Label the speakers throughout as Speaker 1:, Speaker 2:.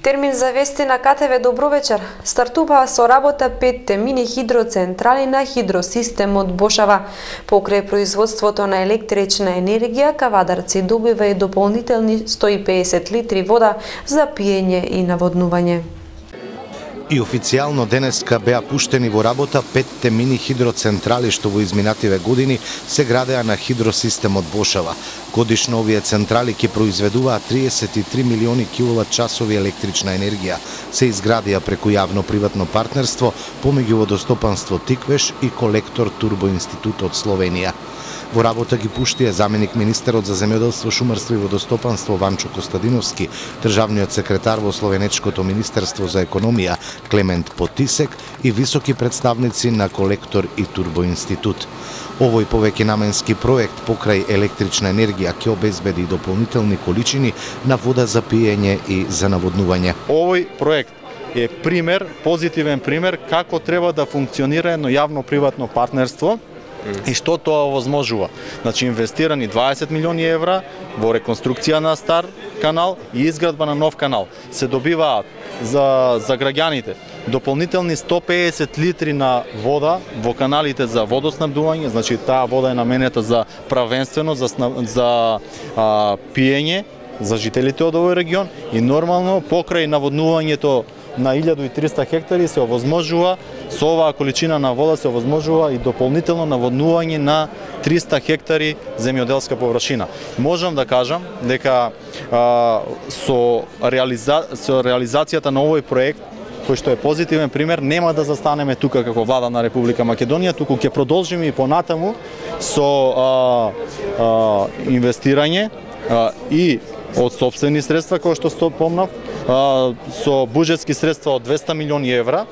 Speaker 1: Термин за вести на КТВ добро вечер. Стартува со работа 5 мини хидроцентрали на хидросистемот Бошава. Покрај производството на електрична енергија, Кавадарци добива и дополнителни 150 литри вода за пиење и наводнување.
Speaker 2: И официјално денеска беа пуштени во работа 5 мини хидроцентрали што во изминативе години се градеа на хидросистемот Бошава. Годишно овие централи ќе произведуваат 33 милиони киловат-часови електрична енергија. Се изградија преку јавно-приватно партнерство помеѓу Водостопанство Тиквеш и колектор Турбо Институт од Словенија. Во работа ги пуштија заменик министерот за земјоделство, шумарство и водостопанство Ванчо Костадиновски, државниот секретар во Словенечкото министерство за економија Клемент Потисек и високи представници на колектор и Турбо Институт. Овој повеќенаменски проект покрај електрична енергија ќе обезбеди дополнителни количини на вода за пиење и за наводнување.
Speaker 3: Овој проект е пример, позитивен пример како треба да функционира едно јавно-приватно партнерство. И што тоа овозможува? Значи, инвестирани 20 милиони евра во реконструкција на стар канал и изградба на нов канал. Се добиваат за граѓаните дополнителни 150 литри на вода во каналите за водоснабдување, значи таа вода е наменета за правенствено за пиење за жителите од овој регион и нормално покрај наводнувањето на 1300 хектари се овозможува со оваа количина на вода се овозможува и дополнително наводнување на 300 хектари земјоделска површина. Можам да кажам дека со реализацијата на овој проект, кој што е позитивен пример, нема да застанеме тука како влада на Република Македонија, туку ќе продолжиме и понатаму со инвестирање и од сопствени средства, кои што спомнав, со буџетски средства од 200 милиони евра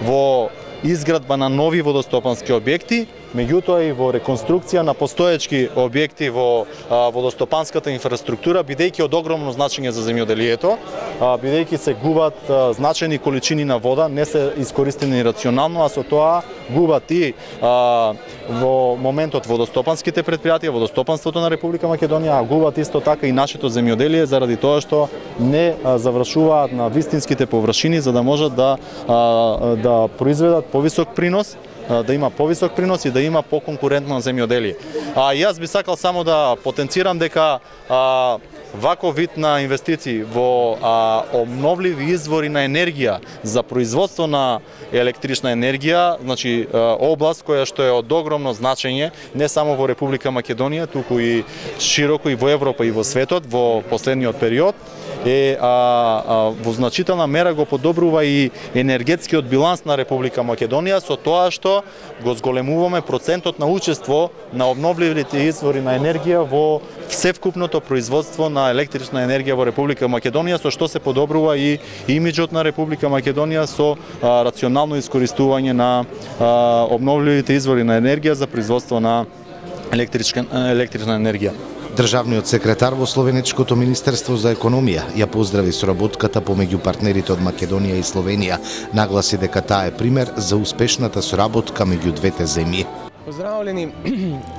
Speaker 3: во изградба на нови водостопански објекти, меѓутоа и во реконструкција на постоечки објекти во водостопанската инфраструктура, бидејќи од огромно значење за земјоделието, бидејќи се губат значајни количини на вода, не се искористени рационално, а со тоа губат и во моментот водостопанските предпријатија, водостопанството на Република Македонија, а губат исто така и нашето земјоделие заради тоа што не завршуваат на вистинските површини за да можат да произведат повисок принос, да има повисок принос и да има поконкурентно земјоделие. Јас би сакал само да потенцирам дека ваков вид на инвестиции во обновливи извори на енергија за производство на електрична енергија, значи област која што е од огромно значење не само во Република Македонија, туку и широко и во Европа и во светот во последниот период, е во значителна мера го подобрува и енергетскиот биланс на Република Македонија со тоа што го зголемуваме процентот на учество на обновливите извори на енергија во севкупното производство на електрична енергија во Република Македонија, со што се подобрува и имиџот на Република Македонија со рационално искористување на обновливите извори на енергија за производство на електрична енергија.
Speaker 2: Државниот секретар во Словенечкото министерство за економија ја поздрави соработката помеѓу партнерите од Македонија и Словенија, нагласи дека таа е пример за успешната соработка меѓу двете земји.
Speaker 4: Поздравлени,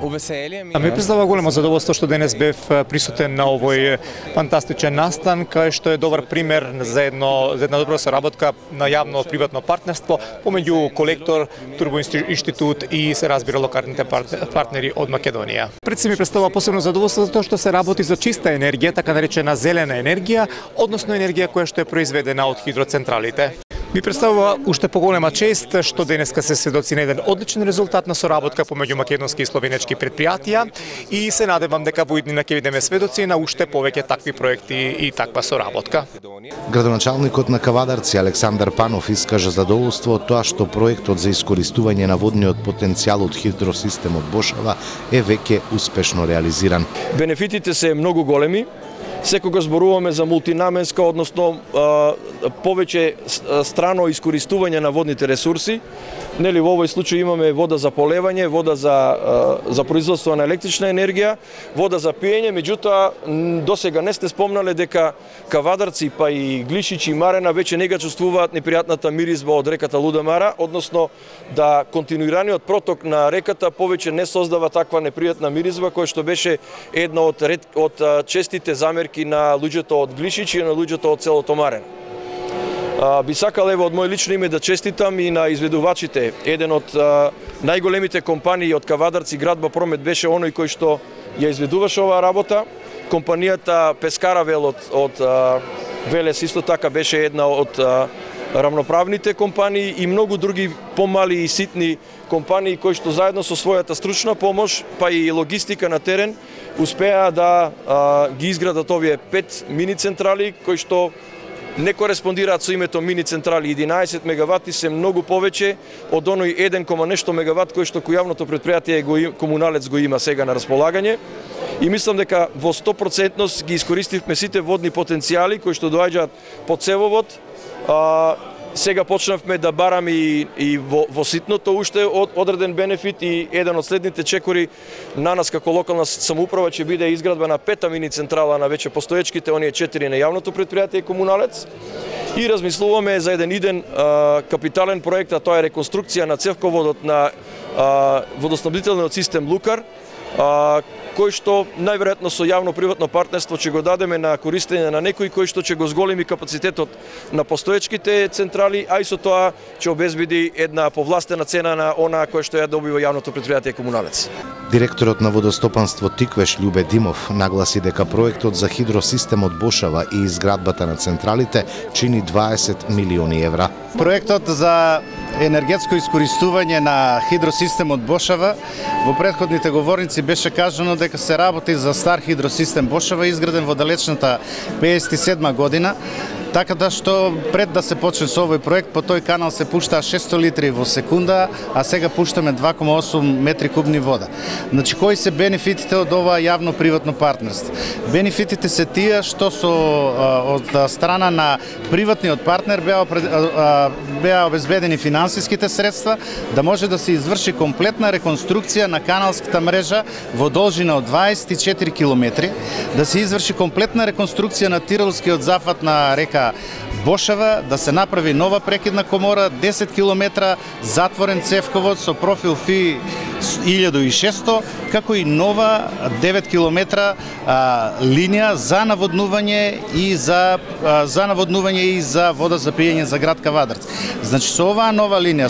Speaker 4: увеселие ми.
Speaker 5: Ми представува големо задоволство што денес бев присутен на овој фантастичен настан, кај што е добар пример за една добра соработка на јавно-приватно партнерство помеѓу колектор, Турбо Институт и се разбира локалните партнери од Македонија. Пред се ми представува посебно задоволство затоа што се работи за чиста енергија, така наречена зелена енергија, односно енергија која што е произведена од хидроцентралите. Ми представува уште поголема чест што денеска се сведоци на еден одличен резултат на соработка помеѓу македонски и словенечки предпријатија и се надевам дека во иднина ќе бидеме сведоци на уште повеќе такви проекти и таква соработка.
Speaker 2: Градоначалникот на Кавадарци Александар Панов искажа задоволство од тоа што проектот за искористување на водниот потенцијал од хидросистемот Бошава е веќе успешно реализиран.
Speaker 6: Бенефитите се многу големи. Секогаш зборуваме за мултинаменска, односно повеќе страно искористување на водните ресурси. Нели во овој случај имаме вода за полевање, вода за производство на електрична енергија, вода за пиење, меѓутоа досега не сте спомнале дека Кавадарци па и Глишичи и Марена веќе не го чувствуваат непријатната миризба од реката Луда Мара, односно да континуираниот проток на реката повеќе не создава таква непријатна миризба која што беше една од честите замерки на луѓето од Глишичи и на луѓето од селото Марен. Би сакал ево од мој лично име да честитам и на изведувачите. Еден од најголемите компании од Кавадарци Градба Промет беше оној кој што ја изведуваше оваа работа. Компанијата Пескаравел од Велес исто така беше една од рамноправните компании и многу други помали и ситни компании кои што заедно со својата стручна помош, па и логистика на терен, успеа да ги изградат овие 5 мини централи кои што не кореспондираат со името мини централи. 11 мегавати се многу повеќе од оној 1, нешто мегават кој што јавното претпријатие Комуналец го има сега на располагање. И мислам дека во 100% ги искористивме сите водни потенцијали кои што доаѓаат по цевовод. Сега почнавме да бараме и во ситното уште одреден бенефит и еден од следните чекори на нас како локална самоуправа ќе биде изградба на 5-та мини централа на веќе постоечките, оние 4 на јавното претпријатие Комуналец. И размислуваме за еден иден капитален проект, а тоа е реконструкција на цевководот на водоснабдителниот систем Лукар, кој што најверојатно со јавно-приватно партнерство ќе го дадеме на користење на некој кој што ќе го зголеми капацитетот на постоечките централи, а и со тоа ќе обезбеди една повластена цена на онаа која што ја добива јавното претпријатие Комуналец.
Speaker 2: Директорот на водостопанство Тиквеш Љубе Димов нагласи дека проектот за хидросистемот Бошава и изградбата на централите чини 20 милиони евра.
Speaker 7: Проектот за енергетско искористување на хидросистемот Бошава, во претходните говорници беше кажано дека се работи за стар хидросистем Бошава, изграден во далечната 57 година, така да што пред да се почне со овој проект, по тој канал се пуштаа 600 литри во секунда, а сега пуштаме 2,8 метри кубни вода. Значи, кои се бенефитите од ова јавно-приватно партнерство? Бенефитите се тие што од страна на приватниот партнер беа обезбедени финансиските средства да може да се изврши комплетна реконструкција на каналската мрежа во должина од 24 километри, да се изврши комплетна реконструкција на тиролскиот зафат на река Бошава, да се направи нова прекидна комора, 10 километра затворен цевковод со профил FI 1600, како и нова 9 километра линија за наводнување и за вода за пиење за град Кавадарци. Значи, со оваа нова линија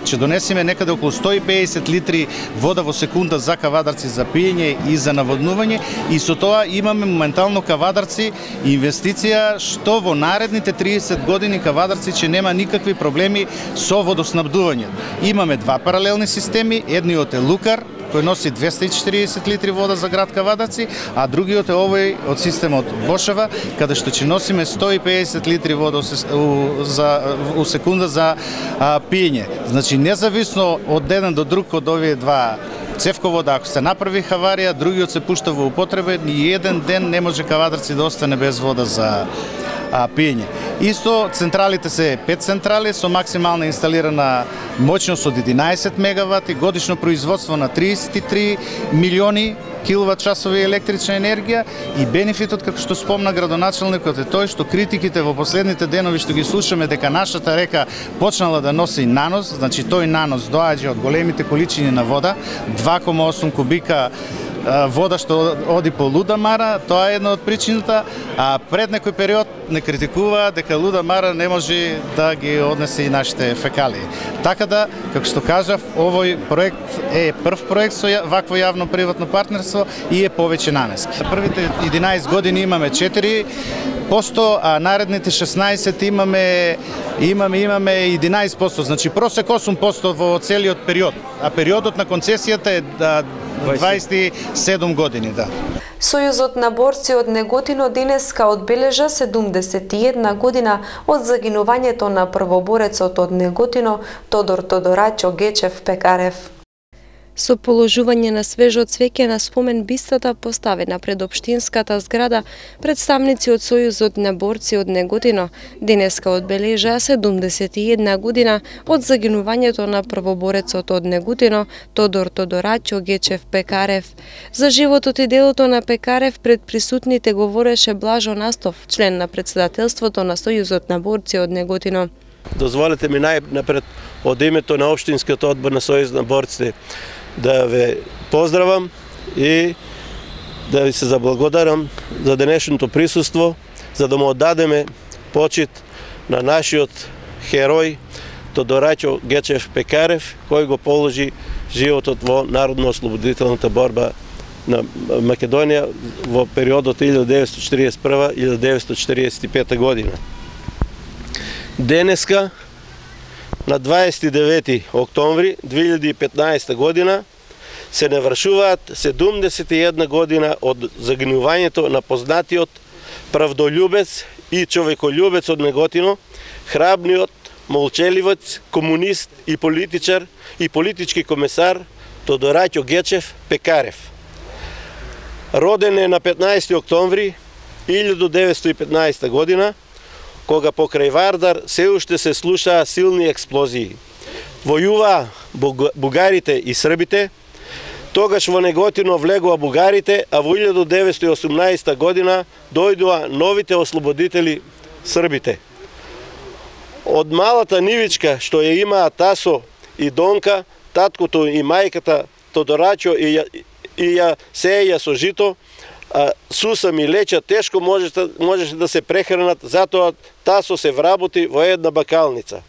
Speaker 7: ќе донесеме некаде околу 150 литри вода во секунда за Кавадарци за пиење и за наводнување, и со тоа имаме моментално Кавадарци инвестиција што во наредните 30 години Кавадарци ќе нема никакви проблеми со водоснабдување. Имаме два паралелни системи, едниот е Лукар, кој носи 240 литри вода за град Кавадарци, а другиот е овој од системот Бошава, каде што ќе носиме 150 литри вода у секунда за пиење. Значи, независно од еден до друг од овие два цевковода, ако се направи хаварија, другиот се пушта во употреба, ни еден ден не може Кавадарци да остане без вода за пиење. Исто, централите се 5 централи со максимална инсталирана моќност од 11 мегавати, годишно производство на 33 милиони киловат часови електрична енергија, и бенефитот, како што спомна градоначалникот, е тој што критиките во последните денови што ги слушаме дека нашата река почнала да носи нанос, значи тој нанос доаѓа од големите количини на вода, 2,8 кубика вода што оди по Луда Мара, тоа е една од причината, а пред некој период не критикува дека Луда Мара не може да ги однесе и нашите фекалии. Така да, како што кажав, овој проект е прв проект со вакво јавно-приватно партнерство и е повеќе наменски. Првите 11 години имаме 4%, а наредните 16 имаме 11%, значи просек 8% во целиот период, а периодот на концесијата е 27 години, да.
Speaker 1: Сојузот на борци од Неготино денеска одбележа 71 година од загинувањето на првоборецот од Неготино Тодор Тодорачо Гечев Пекарев. Со положување на свежо цвеќе на спомен бистата поставена пред општинската зграда, представници од Сојузот на борци од Неготино денеска одбележаа 71 година од загинувањето на првоборецот од Неготино Тодор Тодорачо Гечев Пекарев. За животот и делото на Пекарев пред присутните говореше Блажо Настов, член на председателството на Сојузот на борци од Неготино.
Speaker 8: Дозволете ми најнапред од името на општинскиот одбор на Сојуз на борците да ве поздравам и да ви се заблагодарам за денешното присуство, за да му оддадеме почит на нашиот херој Тодорачо Гечев Пекарев, кој го положи животот во народно-ослободителната борба на Македонија во периодот 1941-1945 година. Денеска, на 29 октомври 2015 година, се навршуваат 71 година од загинувањето на познатиот правдолюбец и човеколюбец од Неготино, храбниот, молчеливец, комунист и политичар и политички комесар Тодорачо Гечев Пекарев. Роден е на 15 октомври 1915 година, кога покрај Вардар се уште се слушаа силни експлозии. Војуваа бугарите и србите, тогаш во Неготино влегоа бугарите, а во 1918 година дојдоа новите ослободители србите. Од малата нивичка што ја имаа Тасо и Донка, таткото и мајката Тодорачо и ја сеја со жито, суса ми леча тешко можеше да се прехранат, затоа Тасо се вработи во една бакалница.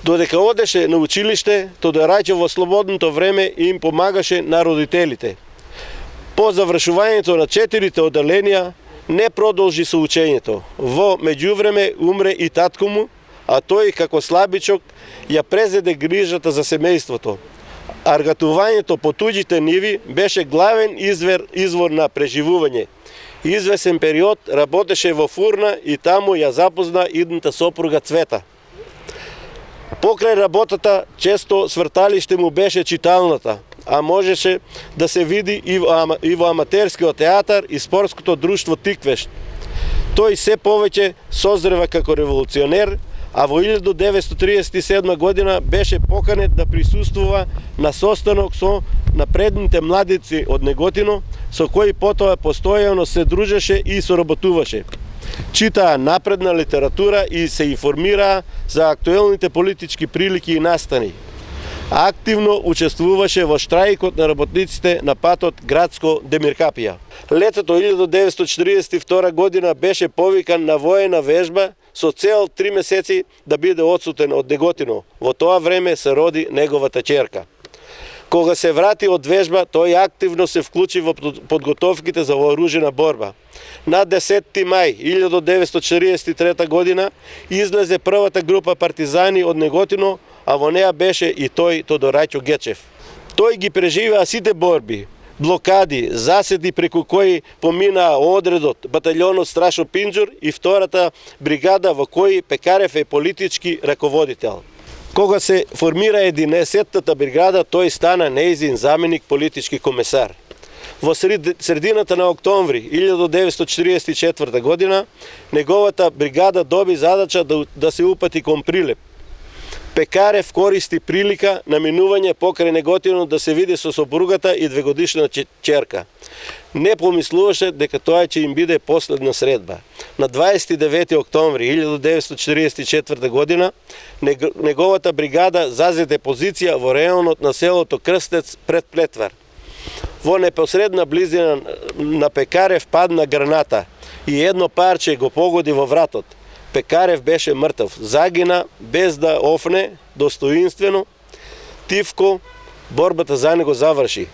Speaker 8: Додека одеше на училиште, Тодорачо во слободното време им помагаше на родителите. По завршувањето на 4 оделенија не продолжи со учењето. Во меѓувреме умре и татко му, а тој како слабичок ја презеде грижата за семејството. Аргатувањето по туѓите ниви беше главен извор на преживување. Извесен период работеше во фурна и таму ја запозна идната сопруга Цвета. Покрај работата, често сврталиште му беше читалната, а можеше да се види и во аматерскиот театар и спортското друштво Тиквешт. Тој се повеќе созрева како револуционер, а во 1937 година беше поканет да присуствува на состанок со напредните младици од Неготино, со кои потоа постојано се дружеше и соработуваше. Читаа напредна литература и се информираа за актуелните политички прилики и настани. Активно учествуваше во штрајкот на работниците на патот Градско-Демиркапија. Летото 1942 година беше повикан на воена вежба со цел 3 месеци да биде одсутен од Неготино. Во тоа време се роди неговата ќерка. Кога се врати од вежба, тој активно се вклучи во подготовките за вооружена борба. На 10 мај 1943 година излезе првата група партизани од Неготино, а во неа беше и тој Тодорачо Гечев. Тој ги преживеа сите борби, блокади, заседи преку кои поминаа одредот, баталјонот Страшо Пинџур и втората бригада во кои Пекарев е политички раководител. Кога се формира 11-тата бригада, тој стана нејзин заменик политички комесар. Во средината на октомври 1944 година, неговата бригада доби задача да се упати кон Прилеп. Пекарев користи прилика на минување покрај Неготино да се види со сопругата и 2-годишна ќерка. Не помислуваше дека тоа ќе им биде последна средба. На 29 октомври 1944 година неговата бригада зазеде позиција во реонот на селото Крстец пред Плетвар. Во непосредна близина на Пекарев падна граната и едно парче го погоди во вратот. Пекарев беше мртв, загина без да офне, достоинствено, тивко, борбата за него заврши.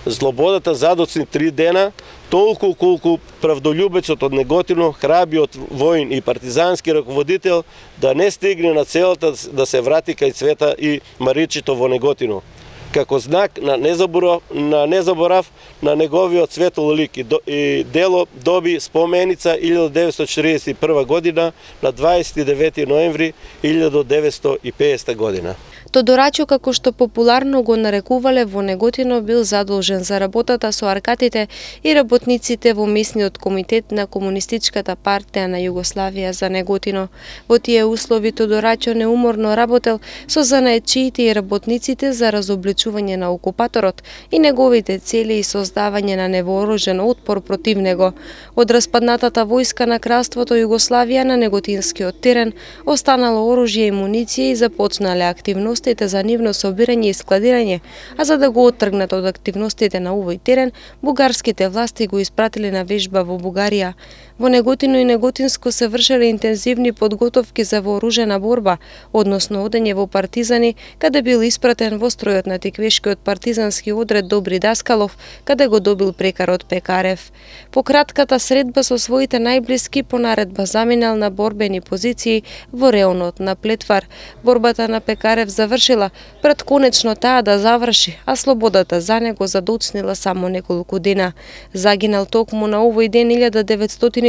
Speaker 8: Злободата задоцни 3 дена, толку колку правдолюбецот од Неготино, храбиот воин и партизански раководител, да не стигне на целата да се врати кај Цвета и Маричито во Неготино. Како знак на незаборав на неговиот светол лик и дело доби споменица 1941 година на 29 ноември 1950 година.
Speaker 1: Тодорачо, како што популарно го нарекувале во Неготино, бил задолжен за работата со аркатите и работниците во месниот комитет на Комунистичката партија на Југославија за Неготино. Во тие услови Тодорачо неуморно работел со занаетчиите и работниците за разобличување на окупаторот и неговите цели и создавање на невооружен отпор против него. Од распаднатата војска на кралството Југославија на неготинскиот терен останало оружје и муниција и започнале активностите за нивно собирање и складирање, а за да го оттргнат од активностите на овој терен, бугарските власти го испратиле на вежба во Бугарија. Во Неготино и Неготинско се вршеле интензивни подготовки за вооружена борба, односно одење во партизани, каде бил испратен во стројот на Тиквешкиот партизански одред Добри Даскалов, каде го добил прекарот Пекарев. По кратката средба со своите најблиски по наредба заминал на борбени позиции во реонот на Плетвар. Борбата на Пекарев завршила пред конечно таа да заврши, а слободата за него задоцнила само неколку дена. Загинал токму на овој ден 1944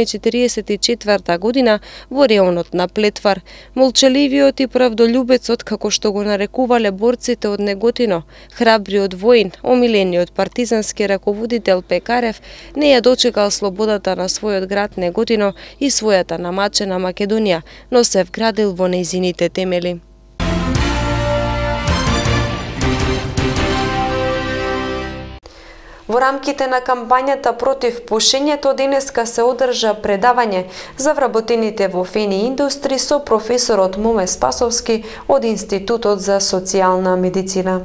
Speaker 1: година во реонот на Плетвар. Молчаливиот и правдолюбецот, како што го нарекувале борците од Неготино, храбриот воин, омилениот партизански раководител Пекарев, не ја дочекал слободата на својот град Неготино и својата намачена Македонија, но се вградил во нејзините темели. Во рамките на кампањата против пушењето денеска се одржа предавање за вработените во Фени индустри со професорот Моме Спасовски од Институтот за социјална медицина.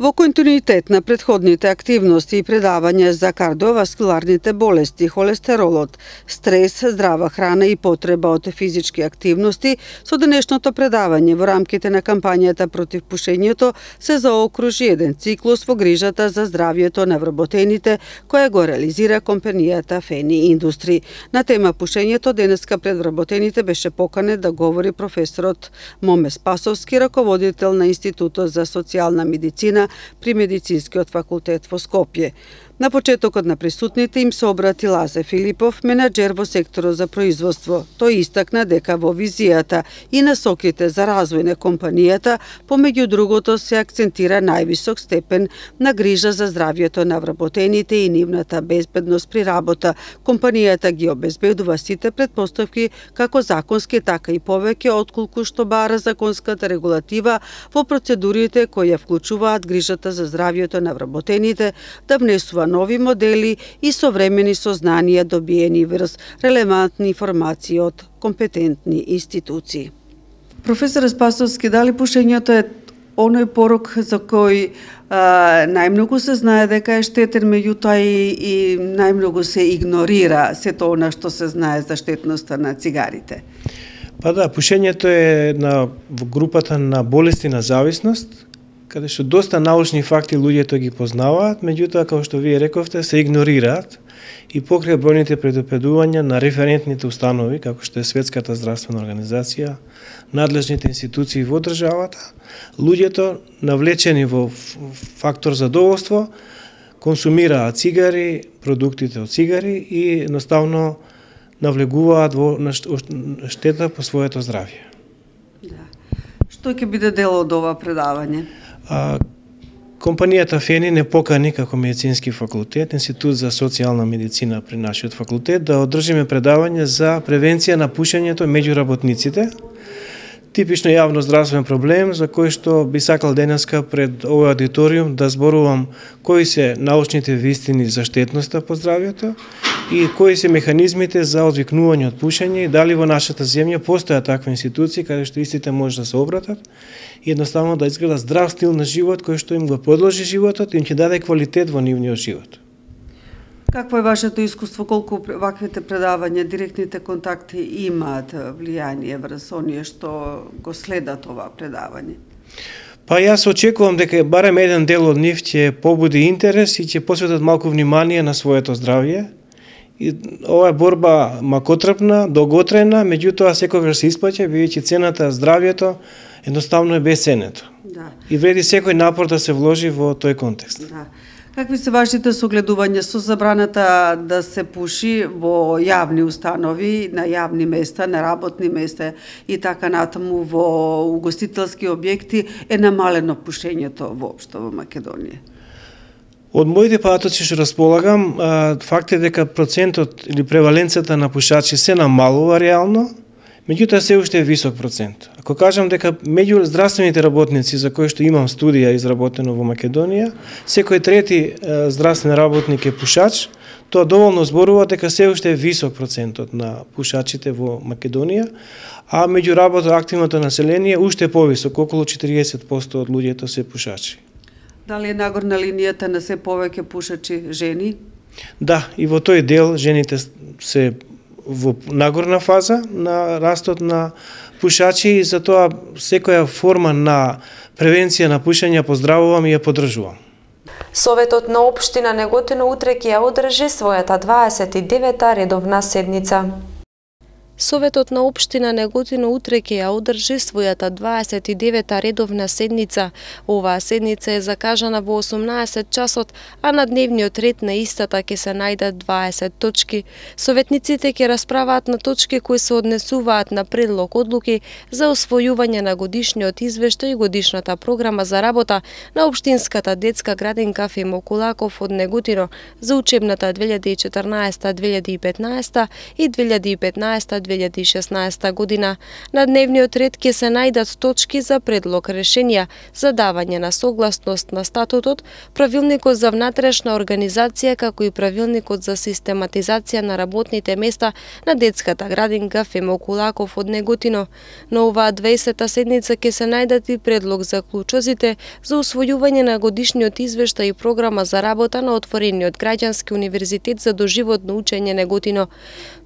Speaker 9: Во континуитет на претходните активности и предавања за кардиоваскуларните болести, холестеролот, стрес, здрава храна и потреба од физички активности, со денешното предавање во рамките на кампањата против пушењето се заокружи еден циклус во грижата за здравјето на вработените, која го реализира компанијата Фени Индустри. На тема пушењето денеска пред вработените беше поканет да говори професорот Моме Спасовски, раководител на Институтот за социјална медицина при Медицинскиот факултет во Скопје. На почетокот на присутните им се обрати Лазе Филипов, менаџер во секторот за производство. Тој истакна дека во визијата и насоките за развој на компанијата, помеѓу другото се акцентира највисок степен на грижа за здравјето на вработените и нивната безбедност при работа. Компанијата ги обезбедува сите претпоставки, како законски, така и повеќе отколку што бара законската регулатива во процедурите кои ја вклучуваат грижата за здравјето на вработените, да внесува нови модели и современи сознанија добиени врз релевантни информации од компетентни институции.
Speaker 10: Професор Спасовски, дали пушењето е оној порок за кој најмногу се знае дека е штетен, меѓутоа и најмногу се игнорира сето она што се знае за штетноста на цигарите?
Speaker 11: Па да, пушењето е во групата на болести на зависност, каде што доста научни факти луѓето ги познаваат, меѓутоа, како што вие рековте, се игнорираат и покрај бројните предупредувања на референтните установи, како што е Светската здравствена организација, надлежните институции во државата, луѓето навлечени во фактор задоволство консумираат цигари, продуктите од цигари и едноставно навлегуваат во штета по своето здравје.
Speaker 10: Да. Што ќе биде дел од ова предавање?
Speaker 11: Компанијата Фени не покани како медицински факултет, Институт за социјална медицина при нашиот факултет, да одржиме предавање за превенција на пушењето меѓу работниците. Типично јавно здравствен проблем за кој што би сакал денеска пред овој аудиториум да зборувам кои се научните вистини за штетноста по здравјето и кои се механизмите за одвикнување од пушење и дали во нашата земја постојат такви институции каде што истите може да се обратат и едноставно да изгледа здрав стил на живот кој што им го продолжи животот и им ќе даде квалитет во нивниот живот.
Speaker 10: Какво е вашето искуство, колку ваквите предавања, директните контакти имаат влијание врз оние што го следат ова предавање?
Speaker 11: Па јас очекувам дека барем еден дел од нив ќе побуди интерес и ќе посветат малку внимание на своето здравје. И ова е борба макотрпна, долготрена, меѓутоа секогаш се исплаќа, бидејќи цената здравјето едноставно е бесценето.
Speaker 10: Да.
Speaker 11: И вреди секој напор да се вложи во тој контекст.
Speaker 10: Да. Какви се вашите согледувања со забраната да се пуши во јавни установи, на јавни места, на работни места и така натаму во угостителски објекти, е намалено пушењето воопшто во Македонија?
Speaker 11: Од моите податоци што располагам, факт е дека процентот или преваленцата на пушачи се намалува реално, меѓутоа се уште е висок процент. Ако кажам дека меѓу здравствените работници за кои што имам студија изработено во Македонија, секој трети здравствен работник е пушач, тоа доволно зборува дека се уште е висок процентот на пушачите во Македонија, а меѓу работно-активното население уште е повисок, околу 40% од луѓето се пушачи.
Speaker 10: Дали е нагорна линијата на се повеќе пушачи жени?
Speaker 11: Да, и во тој дел жените се во нагорна фаза на растот на пушачи и затоа секоја форма на превенција на пушење поздравувам и ја поддржувам.
Speaker 1: Советот на општина Неготино утре ќе ја одржи својата 29-та редовна седница. Советот на општина Неготино утре ќе ја одржи својата 29-та редовна седница. Оваа седница е закажана во 18 часот, а на дневниот ред на истата ќе се најдат 20 точки. Советниците ќе расправаат на точки кои се однесуваат на предлог одлуки за освојување на годишниот извештај и годишната програма за работа на општинската детска градинка Фимо Кулаков од Неготино за учебната 2014-2015 и 2015-2016 година. На дневниот ред ќе се најдат точки за предлог решенија, за давање на согласност на статутот, правилникот за внатрешна организација, како и правилникот за систематизација на работните места на детската градинка Фимо Кулаков од Неготино. На оваа 20-та седница ќе се најдат и предлог за клучозите за усвојување на годишниот извештај и програма за работа на отворениот граѓански универзитет за доживотно учење Неготино.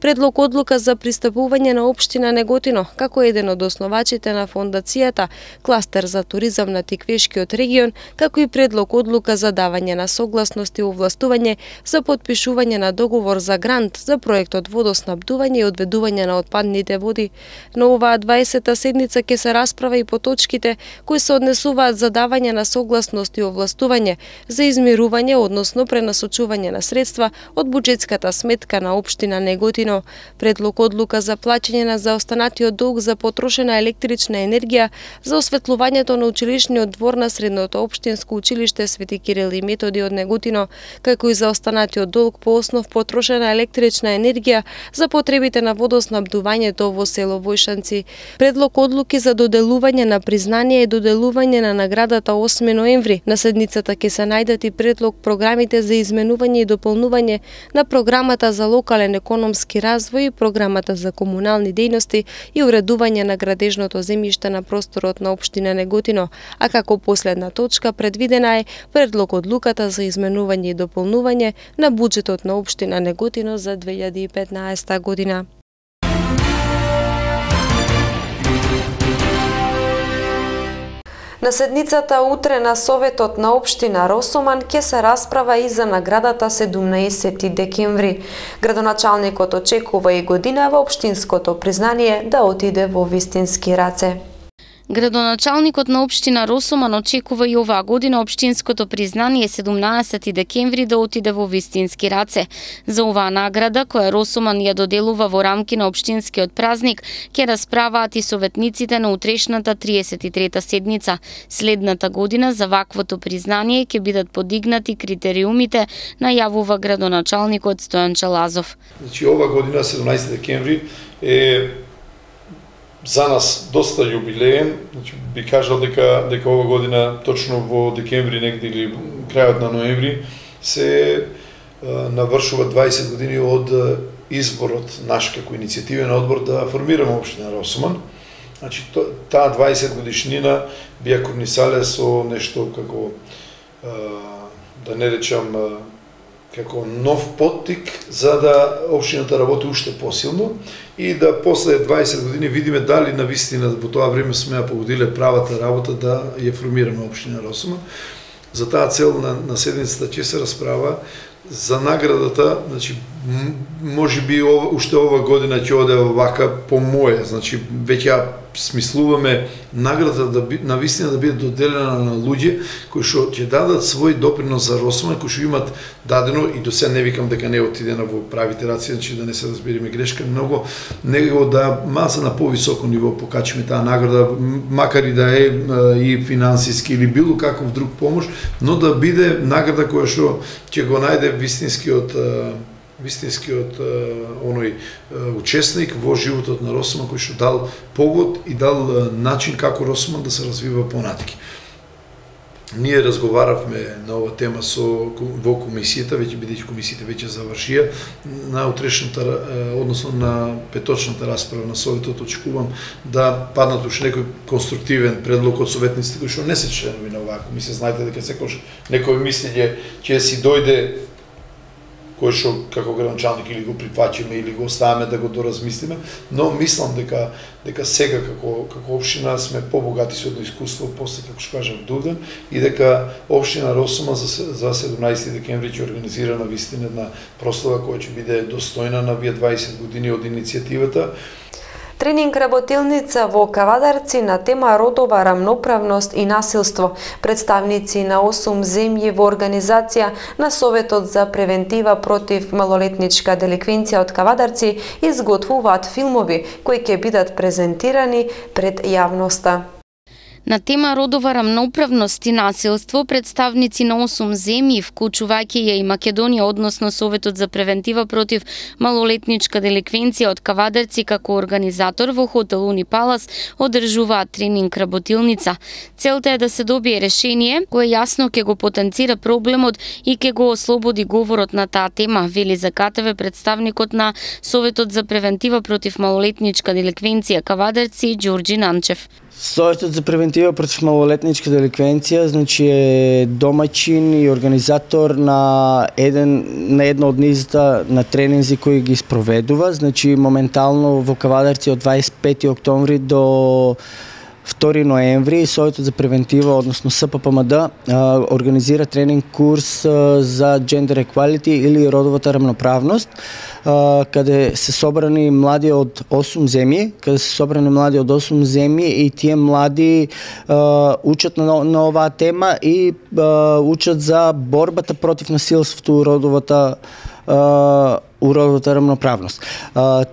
Speaker 1: Предлог одлука за пристапување на општина Неготино како еден од основачите на фондацијата Кластер за туризам на Тиквешкиот регион, како и предлог одлука за давање на согласност и овластување за потпишување на договор за грант за проектот водоснабдување и одведување на отпадните води. На оваа 20-та седница ќе се расправа и по точките кои се однесуваат за давање на согласност и овластување за измирување, односно пренасочување на средства од буџетската сметка на општина Неготино. Предлог одлука за плаќање на заостанатиот долг за потрошена електрична енергија за осветлувањето на училишниот двор на средното општинско училиште Свети Кирил и Методи од Неготино, како и за останатиот долг по основ потрошена електрична енергија за потребите на водоснабдувањето во село Војшанци. Предлог одлуки за доделување на признание и доделување на наградата 8 ноември. На седницата ќе се најдат и предлог програмите за изменување и дополнување на програмата за локален економски развој и програмата за комунални дејности и уредување на градежното земјиште на просторот на општина Неготино, а како последна точка предвидена е предлог одлуката за изменување и дополнување на буџетот на општина Неготино за 2015 година. На седницата утре на Советот на општина Росоман ќе се расправа и за наградата 17 декември. Градоначалникот очекува и годинава општинското признание да отиде во вистински раце.
Speaker 12: Градоначалникот на општина Росоман очекува и оваа година општинското признание 17 декември да отиде во вистински раце. За оваа награда, која Росоман ја доделува во рамки на општинскиот празник, ќе расправаат и советниците на утрешната 33-та седница. Следната година за ваквото признание ќе бидат подигнати критериумите, најавува градоначалникот Стојан Чалазов.
Speaker 13: Значи ова година 17 декември е за нас доста јубилеен, значи би кажал дека ова година точно во декември негде или крајот на ноември се навршува 20 години од изборот наш како иницијативен одбор да формираме општина Росоман. Значи таа 20 годишнина би ја корнисале со нешто како да не речам како нов поттик за да општината работи уште посилно и да после 20 години видиме дали навистина во тоа време сме ја погодиле правата работа да ја формираме општина Росоман. За таа цел на седницата ќе се расправа за наградата, значи можеби уште ова година ќе оде вака по моје, значи веќе ја смислуваме наградата на вистина да биде доделена на луѓе кои што ќе дадат свој допринос за Росоман, кои што имат дадено и до сега не викам дека не отидена во правите раци, значи да не се разбереме грешка, многу него да малце на повисоко ниво покачиме таа награда, макар и да е и финансиски или било каков друг помош, но да биде награда која што ќе го најде вистинскиот оној учесник во животот на Росоман кој што дал погод и дал начин како Росоман да се развива понатаки. Ние разговаравме на ова тема во комисијата, веќе бидејќи комисијата веќе завршија, на утрешната, односно на петочната расправа на Советот, очекувам да паднат уште некој конструктивен предлог од советниците кои што не се членови на оваа комисија. Знаете дека секогаш некој мислење ќе си дојде кој што како градоначалник или го прифаќаме или го оставаме да го доразмислиме, но мислам дека сега како општина сме побогати со едно искуство после, како што кажав, Дувден, и дека општина Росума за 17 декември ќе организира на вистина една прослава која ќе биде достојна на вие 20 години од иницијативата.
Speaker 1: Тренинг работилница во Кавадарци на тема родова рамноправност и насилство. Представници на 8 земји во организација на Советот за превентива против малолетничка деликвенција од Кавадарци изготвуваат филмови кои ќе бидат презентирани пред јавноста.
Speaker 12: На тема родова рамноправност и насилство, представници на 8 земји, вклучувајќи ја и Македонија, односно Советот за превентива против малолетничка деликвенција од Кавадарци како организатор во хотел Унипалас, одржуваат тренинг работилница. Целта е да се добие решение кое јасно ќе го потенцира проблемот и ќе го ослободи говорот на таа тема, вели за КТВ представникот на Советот за превентива против малолетничка деликвенција Кавадарци Ѓорѓи Нанчев.
Speaker 14: Советот за превентива против малолетничка деликвенција значи е домаќин и организатор на едно од низата на тренинзи кои ги спроведува, значи моментално во Кавадарци од 25 октомври до 2 ноември Советот за превентива, односно СППМД, организира тренинг курс за gender equality или родовата рамноправност, каде се собрани млади од 8 земји, и тие млади учат на оваа тема и учат за борбата против насилството у родовата рамноправност.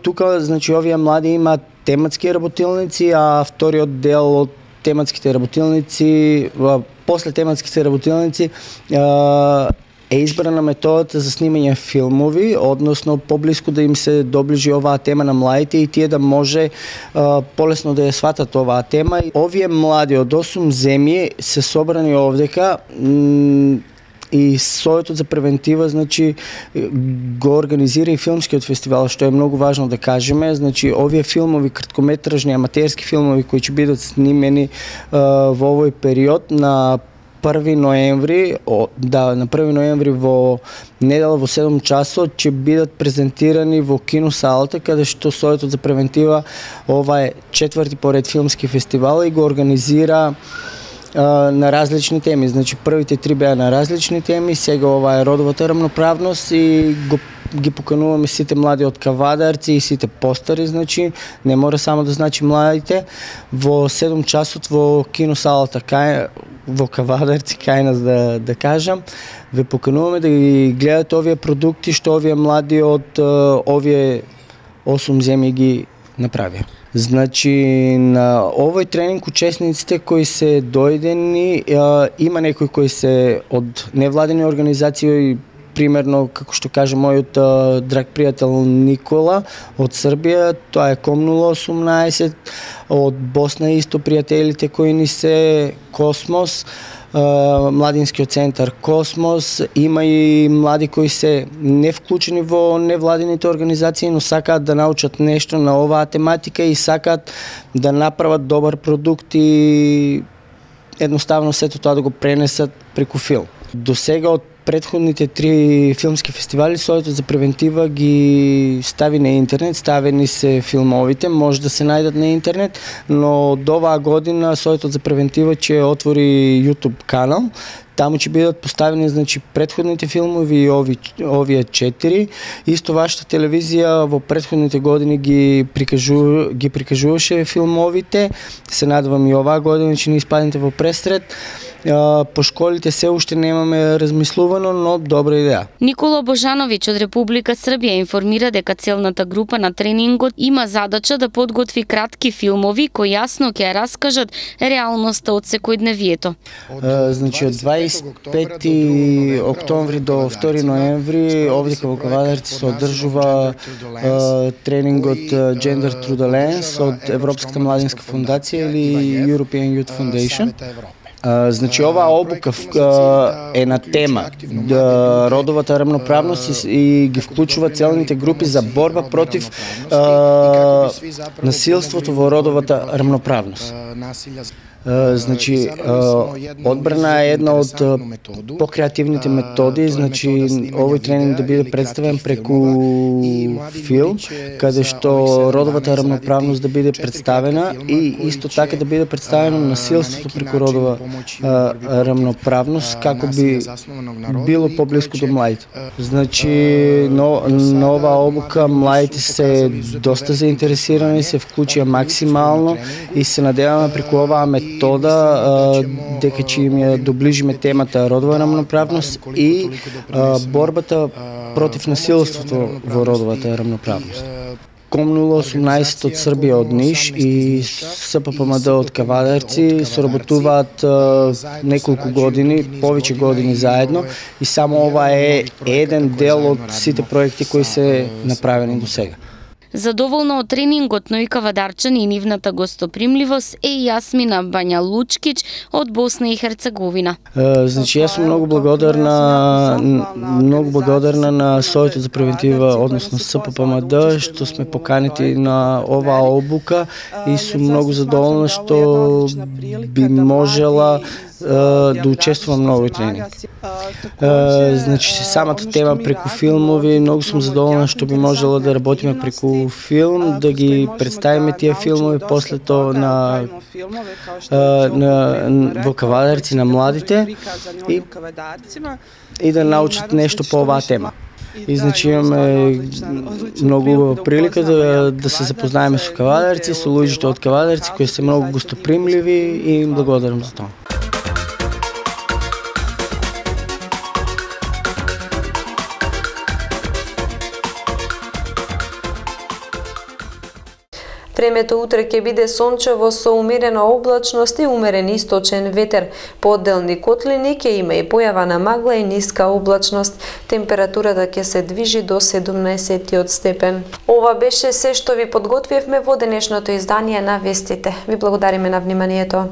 Speaker 14: Тука, значи, овие млади имаат тематски работилници, а вториот дел од тематските работилници, после тематските работилници, е избрана методата за снимање филмови, односно поблиску да им се доближи оваа тема на младите и тие да може полесно да ја сватат оваа тема. Овие млади од 8 земји се собрани овдека и Советот за превентива, значи, го организира и филмскиот фестивал, што е многу важно да кажеме. Значи, овие филмови, краткометражни, аматерски филмови кои ќе бидат снимени во овој период на 1 ноември, на 1 ноември во недела во 7 часот ќе бидат презентирани во киносалата, каде што Советот за превентива, ова е 4-ти поред филмски фестивал и го организира на различни теми. Значи, првите 3 беа на различни теми, сега ова е родовата рамноправност и ги покануваме сите млади од Кавадарци и сите постари, значи, не мора само да значи младите, во 7 часот во киносалата во Кавадарци, кај нас да кажам, ве покануваме да ги гледате овие продукти што овие млади од овие 8 земји ги направија. Значи, на овој тренинг учесниците кои се дојдени, има некои кои се од невладени организации, примерно, како што каже мојот драг пријател Никола од Србија, тоа е Ком 018, од Босна исто пријателите кои ни се Космос, Младинскиот центар Космос, има и млади кои се не вклучени во невладените организации, но сакаат да научат нешто на оваа тематика и сакаат да направат добар продукт и едноставно сето тоа да го пренесат преку филм. До сега од предходните 3 филмски фестивали Советот за превентива ги стави на интернет, ставени се филмовите, може да се најдат на интернет, но до оваа година Советот за превентива ќе отвори YouTube канал. Таму ќе бидат поставени, значи, предходните филмови и овие 4. Исто вашата телевизија во предходните години ги прикажуваше филмовите. Се надевам и оваа година ќе не испаднете во пресред. По школите се уште немаме размислувано, но добра идеја.
Speaker 12: Никола Божановиќ од Република Србија информира дека целната група на тренингот има задача да подготви кратки филмови кои јасно ќе раскажат реалноста од секојдневието.
Speaker 14: Значи, од 25 октомври до 2 ноември овде во Кавадарци се одржува тренингот Gender Through the Lens од Европската младинска фондација или European Youth Foundation. Значи, оваа обука е на тема родовата рамноправност и ги вклучува целните групи за борба против насилството во родовата рамноправност. Значи, одбрана е една од покреативните методи, значи овој тренинг да биде представен преку филм, каде што родовата рамноправност да биде представена и исто така да биде представено насилството преку родова рамноправност, како би било поблиску до младите. Значи, на оваа обука младите се доста заинтересирани, се вклучија максимално и се надеваме преку оваа метода дека ќе им ја доближиме темата родова рамноправност и борбата против насилството во родовата рамноправност. Ком 018 од Србија од Ниш и СППМД од Кавадарци соработуваат неколку години, повеќе години заедно и само ова е еден дел од сите проекти кои се направени до сега.
Speaker 12: Задоволна од тренингот, но и кавадарчани и нивната гостопримливост е и Јасмина Бања Лучкич од Босна и Херцеговина.
Speaker 14: Значи, јас сум многу благодарна на Советот за превентива, односно СППМД, што сме поканети на оваа обука и сум многу задоволна што би можела да учествувам на овој тренинг. Значи, самата тема преку филмови, многу сум задоволна што би можела да работиме преку филм, да ги представиме тие филмови после тоа во Кавадарци на младите и да научат нешто по оваа тема. И значи имаме многу убава прилика да се запознаеме со Кавадарци, со луѓето од Кавадарци кои се многу гостопримливи и им благодарам за тоа.
Speaker 1: Времето утре ќе биде сончево со умерена облачност и умерен источен ветер. По одделни котлини ќе има и појава на магла и ниска облачност. Температурата ќе се движи до 17 степен. Ова беше се што ви подготвивме во денешното издание на Вестите. Ви благодариме на вниманието.